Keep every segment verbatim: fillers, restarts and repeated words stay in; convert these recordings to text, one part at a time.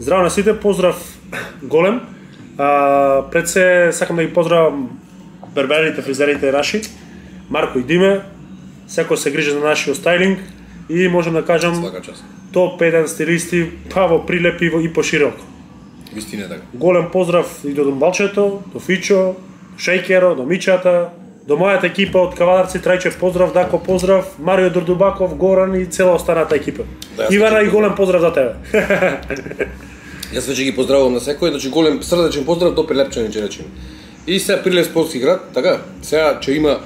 Здраво на сите, поздрав голем. А, пред се сакам да ги поздравам берберите, фризерите наши, Марко и Диме, секој се грижи за нашиот стайлинг и можам да кажам топ еден стилисти, па во Прилеп и пошироко. Вистина така. Голем поздрав и до Домбалчето, до Фичо, Шејкеро, до Мичата, до мојата екипа од Кавадарци, Трајчев поздрав, Дако поздрав, Марио Дурдубаков, Горан и цела останата екипа. Да, Ивана и голем поздрав за тебе. Јас веќе ги поздравувам на секој, значи голем срдечен поздрав до Прилепчани ќе речеме. И сега Прилеп спортски град, така, сега ќе има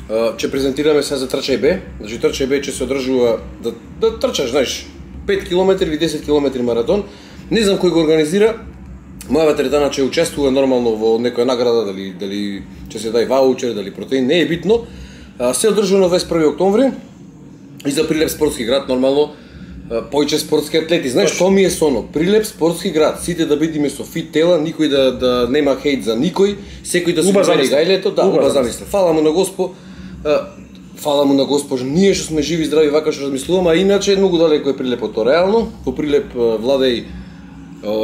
ќе презентираме сега за Трчај Б, значи Трчај Б ќе се одржува да да трчаш, знаеш, пет километри или десет километри маратон. Не знам кој го организира. Моја теретана ќе учествува нормално во некоја награда, дали дали ќе се дај ваучер, дали протеин, не е битно. А, се одржува на дваесет и први октомври и за Прилеп спортски град нормално појче спортски атлети. Знаеш што ми е соно? Прилеп спортски град, сите да бидиме со фит тела, никој да да нема хејт за никој, секој да се убави гајлето, да, уба замисли. Фала му на Господ. Фала му на Господ, ние што сме живи, здрави, вака што размислуваме, а иначе многу далеко е Прилепото реално. Во Прилеп владеј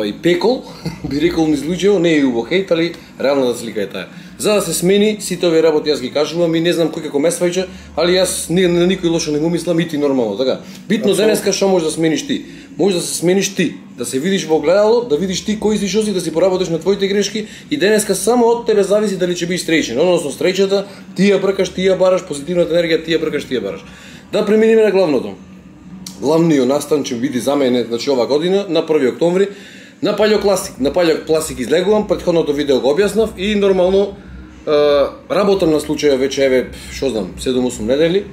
и пекол, би рекол низ луѓето, не е убо хејт, али реалната слика е таа. За да се смени сите овие работи јас ги кажувам и не знам кој како ме сваќа, али јас не на никој лошо не го мислам и ти нормално, така. Битно денеска што можеш да смениш ти? Може да се смениш ти, да се видиш во огледало, да видиш ти кој си, што си, да си поработиш на твоите грешки и денеска само од тебе зависи дали ќе бидеш среќен, односно среќата ти ја бркаш, ти ја бараш, позитивната енергија ти ја бркаш, ти ја бараш. Да преминеме на главното. Главниот настан ќе биде за мене, значи ова година на први октомври на Палео Класик. На Палео Класик излегувам, претходното видео го објаснав и нормално е, работам на случаја веќе еве, што знам, седум-осум недели.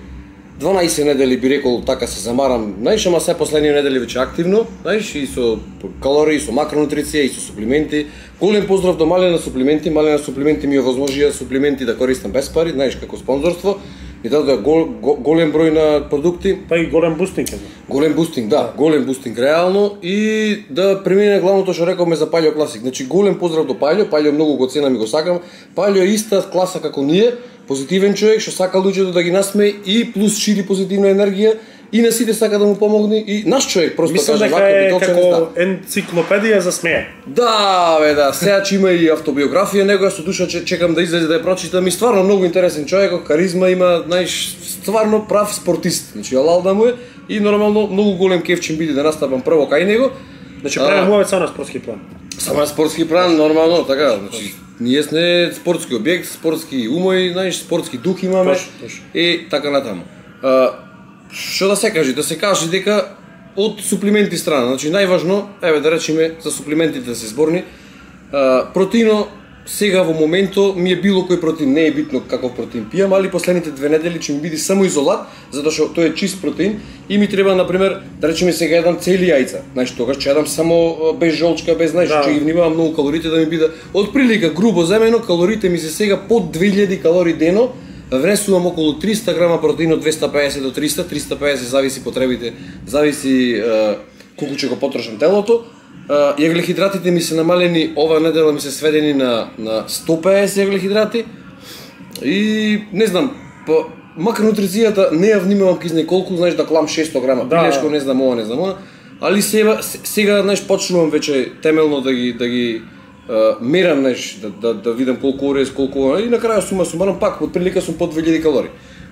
дванаесет недели би рекол така се замарам, знаеш, ама се последни недели веќе активно, знаеш, и со калории, со макронутриција и со суплименти. Голем поздрав до Малена суплименти, Малена суплименти ми овозможија суплименти да користам без пари, знаеш, како спонзорство. И дадоа гол, гол, голем број на продукти. Па и голем бустинг е. Голем бустинг, да, голем бустинг реално и да премине главното што рековме за Палео Класик. Значи голем поздрав до Палео, Палео многу го ценам и го сакам. Палео е иста класа како ние, позитивен човек што сака луѓето да ги насмее и плюс шири позитивна енергија и на сите сака да му помогне и наш човек просто мислам каже дека е како енциклопедија за смее. Да, бе, да, сега че има и автобиографија, него со душа че чекам да излезе да ја прочитам и стварно многу интересен човек, каризма има, знаеш, стварно прав спортист. Значи алал да му е и нормално многу голем кеф ќе биде да настапам прво кај него. Значи правиме мовец на спортски план. Само на спортски план нормално, така, значи ние сме спортски објект, спортски умој, знаеш, спортски дух имаме и така натаму. Што да се каже? Да се каже дека од суплименти страна, значи најважно, еве да речеме за суплиментите да се зборни, протеино сега во моментот ми е било кој протеин, не е битно каков протеин пијам, али последните две недели ќе ми биде само изолат, затоа што тој е чист протеин и ми треба на пример да речеме сега едам цели јајца. Значи тогаш ќе јадам само без жолчка, без знаеш, да. Ќе ги внимавам многу калорите да ми биде од прилика грубо земено, калорите ми се сега под две илјади калории дено. Внесувам околу триста грама протеин од двеста пеесет до триста, триста пеесет зависи потребите, зависи е, колку ќе го потрошам телото. Е, јаглехидратите ми се намалени, ова недела ми се сведени на на сто пеесет јаглехидрати. И не знам, по макронутрицијата не ја внимавам кизне колку, знаеш да клам шестоста грама, да. Пилешко не знам ова, не знам ова, али сега сега знаеш почнувам веќе темелно да ги да ги Uh, мерам неш да, да, да видам колку орез, колку и на крај сума сумарно пак од прилика сум под две илјади калории.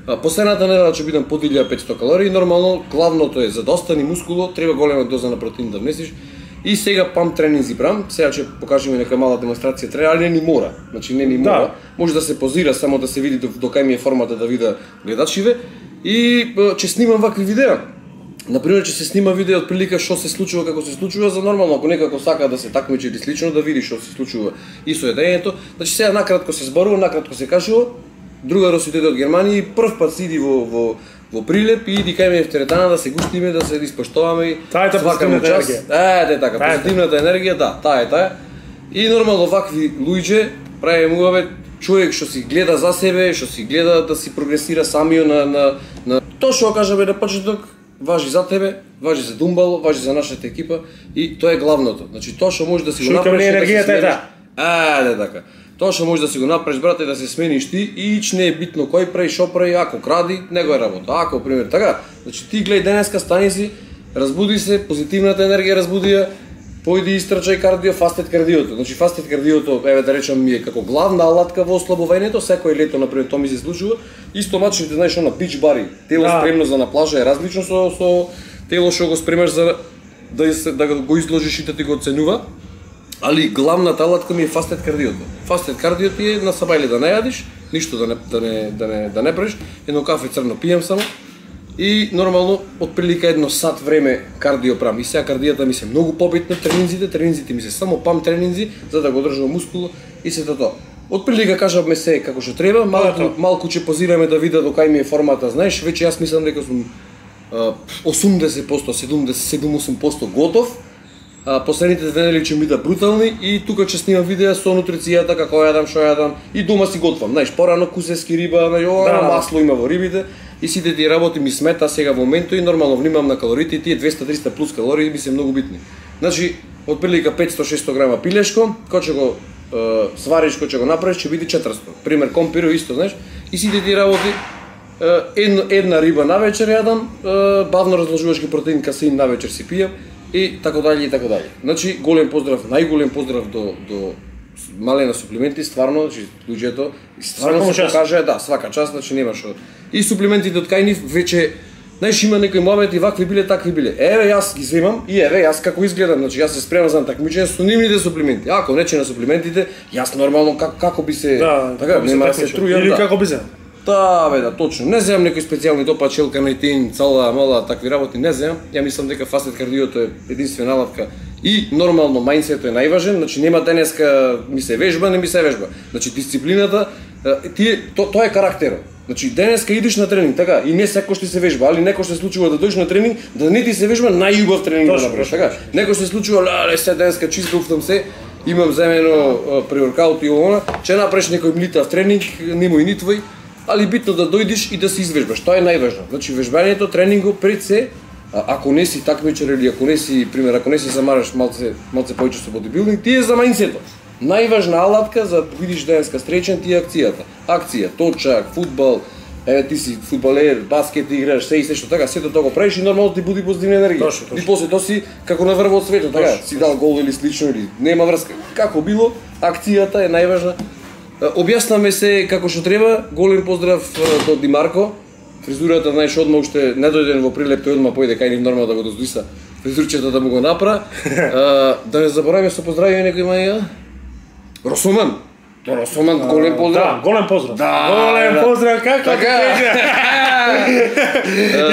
Uh, последната недела ќе бидам под илјада и петстотини калории, нормално главното е за да остани мускуло, треба голема доза на протеин да внесиш. И сега памп тренинзи брам, сега ќе покажеме нека мала демонстрација треба, али не ни мора. Значи не ни мора. Да. Може да се позира само да се види до, до кај ми е формата да вида гледачиве и ќе снимам вакви видеа. Например, ќе се снима видео од прилика што се случува како се случува за нормално, ако некако сака да се такмичи или слично да види што се случува и со едењето. Значи сега накратко се зборува, накратко се кажува. Друга роситете од Германија и прв пат си иди во во во Прилеп и иди кај ме в теретана да се гуштиме, да се испоштоваме и таа е позитивната енергија. Е, де така, позитивната енергија, да, таа е таа. И нормално вакви луѓе правиме муаве човек што си гледа за себе, што си гледа да си прогресира самиот на на на тоа што кажаме на почеток. Важи за тебе, важи за Думбало, важи за нашата екипа и тоа е главното. Значи тоа што може да си го направиш енергијата е таа. А, да така. Тоа што може да си го направиш брате да се смениш ти и ич не е битно кој прави, што прави, ако кради, него е работа. Ако пример така, значи ти гледај денеска стани си, разбуди се, позитивната енергија разбуди ја појди истрчај кардио, фастет кардиото. Значи фастет кардиото, еве да речам, ми е како главна алатка во ослабувањето, секој лето например тоа ми се случува. Исто мачите, знаеш, на бич бари, тело да. Спремно за на плажа е различно со со тело што го спремаш за да се да го изложиш и да ти го оценува. Али главната алатка ми е фастет кардиото. Фастет кардиото е на сабајле да не јадиш, ништо да не да не да не да не правиш, едно кафе црно пијам само. И нормално отприлика едно сат време кардио правам. И сега кардијата ми се многу побитна, тренинзите, тренинзите ми се само пам тренинзи за да го држам мускул и се тоа. Отприлика кажавме се како што треба, малку малку ќе позираме да вида до кај ми е формата, знаеш, веќе јас мислам дека сум осумдесет проценти, седумдесет седум осум проценти готов. А, последните две недели ќе ми бидат брутални и тука ќе снимам видеа со нутрицијата, како јадам, што јадам и дома си готвам. Знаеш, порано кусески риба, знаеш, да, масло има во рибите и сите тие работи ми смета сега во моментот и нормално внимавам на калориите и тие двеста до триста плюс калории ми се многу битни. Значи, отприлика петсто до шестсто грама пилешко, кој ќе го е, свариш, кој ќе го направиш, ќе биде четиристо. Пример компиро исто, знаеш, и сите тие работи е, една, една риба навечер јадам, е, бавно разложуваш ги протеин, касеин навечер си пијам. И така дали и така дали. Значи голем поздрав, најголем поздрав до до малена суплементи, стварно, значи луѓето стварно се покажа, да, свака час, значи нема што. И суплементите од кај нив веќе, знаеш, има некои моменти вакви биле, такви биле. Еве јас ги земам и еве јас како изгледам, значи јас се спремам за такмичење со нивните суплементи. Ако не че на суплементите, јас нормално како како би се да, така, нема да се трујам, или да. како би се. Да, бе, да, точно. Не земам некои специјални топа, челка, најтин, цала, мала, такви работи, не земам. Ја мислам дека фастет кардиото е единствена алатка и нормално мајндсетот е најважен, значи нема денеска ми се вежба, не ми се вежба. Значи дисциплината, тие то, тоа е карактерот. Значи денеска идеш на тренинг, така, и не секој што се вежба, али некој што се случува да дојдеш на тренинг, да не ти се вежба, најубав тренинг да направиш, така. Некој што се случува, леле, се денеска чисто уфтам се, имам земено преворкаут и она, ќе направиш некој млитав тренинг, нему и ни твој. Али битно да дојдеш и да се извежбаш, тоа е најважно. Значи вежбањето, тренингот пред се, ако не си такмичар или ако не си, пример, ако не си замараш малце малце повеќе со бодибилдинг, ти е за мајндсетот. Најважна алатка за да видиш денеска стречен ти е акцијата. Акција, точак, фудбал, еве ти си фудбалер, баскет играш, се и се што така, сето тоа го правиш и нормално ти буди позитивна енергија. Точно, точно. И после тоа си како на врв од светот, така, си дал гол или слично или нема врска. Како било, акцијата е најважна. Објаснаме се како што треба. Голем поздрав до Димарко. Фризурата, знаеш, одма уште не дојден во прилеп, тој одма појде кај нив нормално да го доздиса фризурчето да му го напра. Да не забораваме со поздравување некој маја. Росоман. Росоман, голем поздрав. Да, голем поздрав. Да, голем да. поздрав, како така.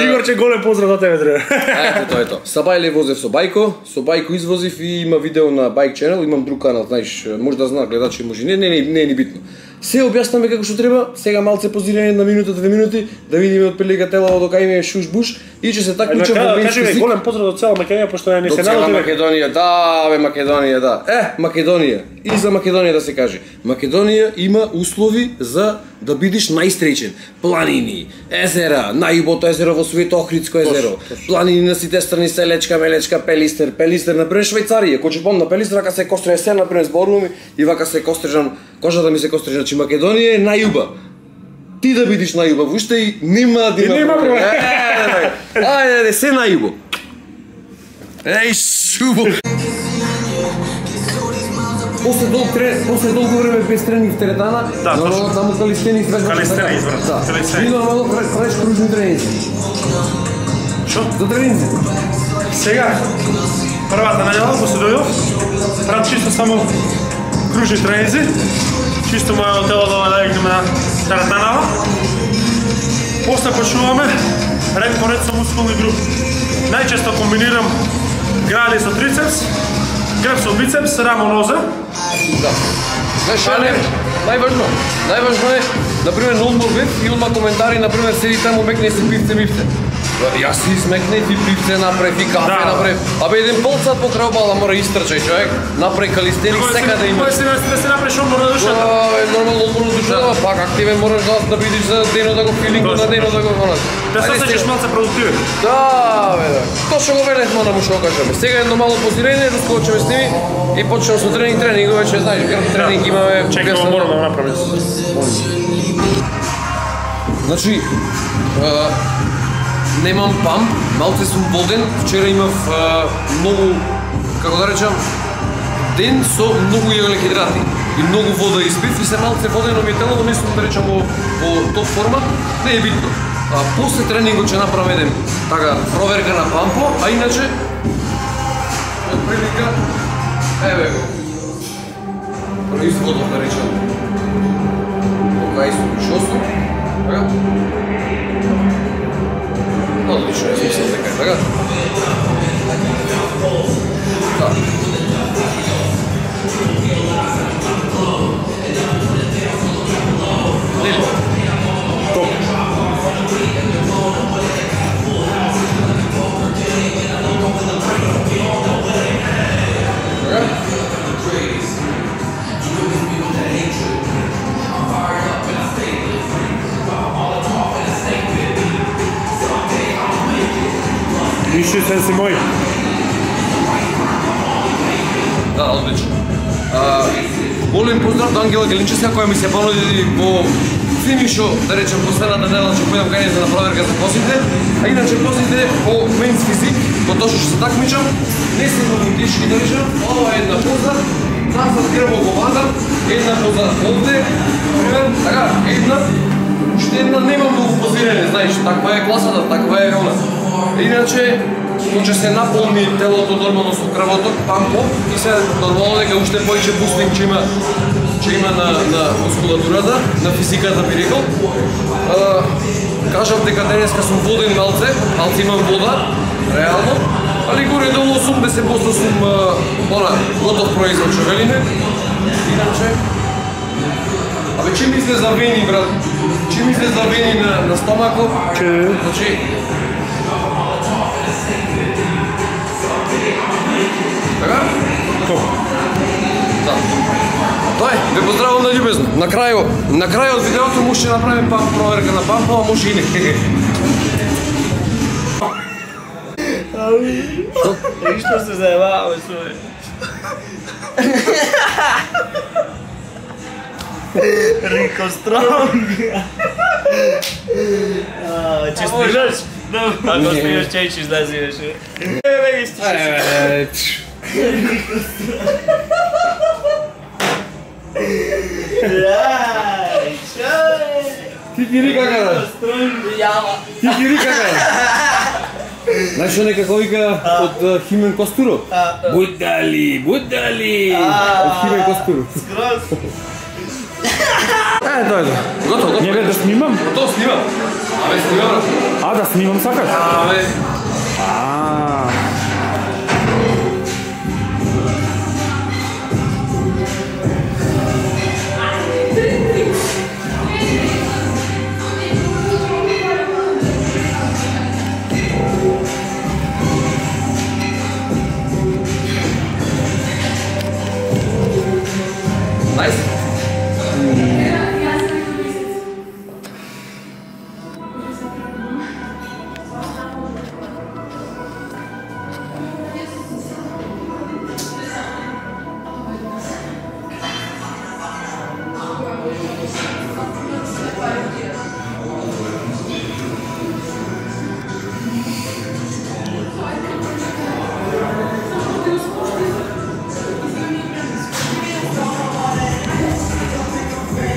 Игорче, голем поздрав за тебе треба. Ето тоа е тоа. Сабајле возев со Бајко, со Бајко извозив и има видео на Bike Channel, имам друг канал, знаеш, може да знаат гледачи, може не, не, не, не е ни битно. Се објаснаме како што треба, сега малце позирање на минута, две минути, да видиме од прилика тело до кај ми е шуш-буш и ќе се такмичам во менски език. Голем поздрав до цела Македонија, пошто не се наоѓа. Македонија, да, бе, Македонија, да. Е, Македонија. И за Македонија да се каже. Македонија има услови за да бидеш најстречен. Планини, езера, најубото езеро во свет, Охридско езеро. Планини на сите страни, Селечка, Мелечка, Пелистер, Пелистер, например Швајцарија. Кој ќе помна Пелистер, вака се костреја се, например зборувам и вака се кострежам, кожата ми се кострежа, значи Македонија е најуба. Ти да бидиш најубав, уште и нема да има. Нема проблем. Ајде, ајде, се најубо. Еј, шубо. После долг трен, после долго време без тренинг в теретана, да, нормално таму калистени извеждаш. Калистени извеждаш. Да. И нормално правиш кружни тренинзи. Шо? За тренинзи. Сега, првата најава, после дојдов, правам чисто само кружни тренинзи, чисто мојот тело да најдеме на теретанава. После почнуваме ред по ред со мускулни групи. Најчесто комбинирам грали со трицепс, греб со бицепс, рамо нозе. Да. Знаеш, не, најважно, најважно е, например, ноутбук веб, филма, коментари, например, седи таму мекне се пивце мивце. Јас си смекне, ти пивце направи, кафе да. направи. Абе, еден пол сат покрај обала мора истрчај човек, направи калистеник, секаде има. Кој си да се направиш одмор на душата? Да, бе, нормално одмор на душата, пак активен мораш да, да бидиш за денот да го филингу, на денот да го вонат. Да се осеќаш малце продуктивен. Да, бе, да. Точно го велевме да му што кажеме. Сега едно мало позирање, доскочиме с ними и почнеме со тренинг, тренинг, веќе знаеш, грб тренинг имаме. Чекамо, морам да направим. Значи, немам памп, малце сум воден, вчера имав многу како да речам, ден со многу јаглекидрати и многу вода испив и се малце водено ми е телото, мислам да речам во, во топ форма, не е битно. А после тренингот ќе направам еден така проверка на пампо, а иначе од прилика еве го. Производот да речам. дваесет и шест. Така? Одлично, јас мислам дека е така. Да. Нели? Топ. Така? Виши сенси мој. Да, одлично. А, голем поздрав до Ангела Гелинчевска која ми се понуди во финишо, да речем, последната недела ќе појдам кај за на проверка за косите, а иначе косите по менс физик, во тоа што се такмичам, не се многу тешки, да речем, ова е една поза, назад грбо го вадам, една поза овде, пример, така, една, уште една немам многу позирање, знаеш, таква е класата, таква е она. Иначе, ќе се наполни телото нормално со крвото, пампо, и се нормално дека уште повеќе бустинг ќе има, ќе има на, на мускулатурата, на физиката би рекол. А, кажав дека денеска сум воден малце, малце имам вода, реално, али горе долу осумдесет проценти сум она, готов производ што велиме. Иначе, абе че мисле за вени, брат? Че мисле за вени на, на стомакот? Че? Значи, така? Топ. Да. Тоа е, ве поздравувам на љубезно. На крајот, на крајот видеото му ќе направим памп проверка на памп, а може и не. И што се заебаваме со овој? Рико Стронг. Ќе стигнеш? Ако стигнеш, ќе ќе излезиш. Еве ги стигнеш. Рај, чај! Ти ги рика кај? Јава. Ти ги рика кај? Знаеш некако вика од Химен Костуров? Будали, будали! Од Химен Костуров. Скроз. Е, дојде. Готово, готово. Не бе да снимам? Готово снимам. Абе, снимам. А, да снимам сакаш? Абе. А. Nice.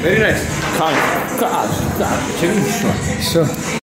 Very nice. Кај, кај, кај, ќе видиш што. Што?